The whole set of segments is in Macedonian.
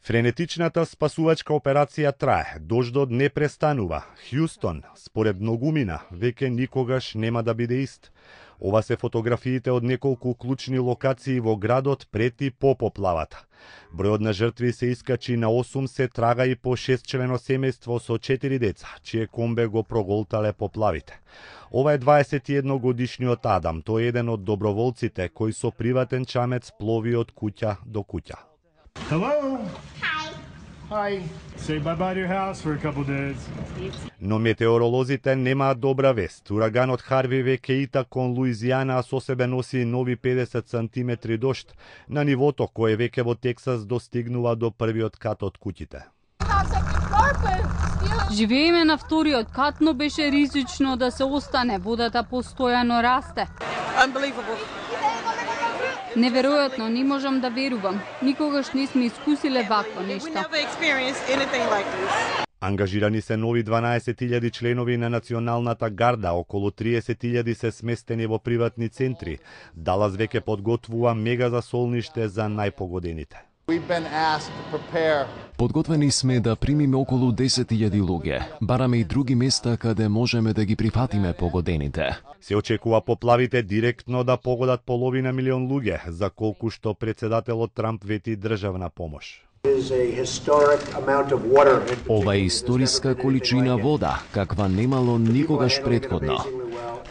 Френетичната спасувачка операција трае, дождот не престанува. Хјустон, според многумина, веќе никогаш нема да биде ист. Ова се фотографиите од неколку клучни локации во градот пред и по поплавата. Бројот на жртви се искачи на 8, се трага и по 6-члено семејство со 4 деца, чие комбе го проголтале поплавите. Ова е 21 годишниот Адам, тој е еден од доброволците кои со приватен чамец плови од куќа до куќа. Hello. Hi. Say bye-bye to your house for a couple days. Но метеоролозите немаат добра вест. Ураганот Харви веќе ита кон Луизијана, а со себе носи нови 50 сантиметри дожд, на нивото кое веќе во Тексас достигнува до првиот кат од куќите. Живееме на вториот кат, но беше ризично да се остане. Водата постојано расте. Неверојатно, не можам да верувам. Никогаш не сме искусиле вакво нешто. Ангажирани се нови 12.000 членови на Националната гарда, околу 30.000 се сместени во приватни центри. Далас веќе подготвува мега засолниште за најпогодените. Подготвени сме да примиме околу 10.000 луѓе. Бараме и други места каде можеме да ги прифатиме погодените. Се очекува поплавите директно да погодат половина милион луѓе, за колку што председателот Трамп вети државна помош. Ова е историска количина вода, каква немало никогаш претходно.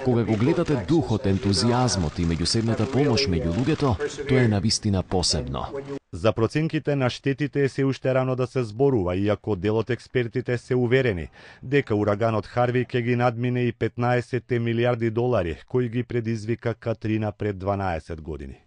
Кога го гледате духот, ентузијазмот и меѓусебната помош меѓу луѓето, тоа е навистина посебно. За проценките на штетите е се уште рано да се зборува, иако дел од експертите се уверени дека ураганот Харви ќе ги надмине и 15 милиарди долари кои ги предизвика Катрина пред 12 години.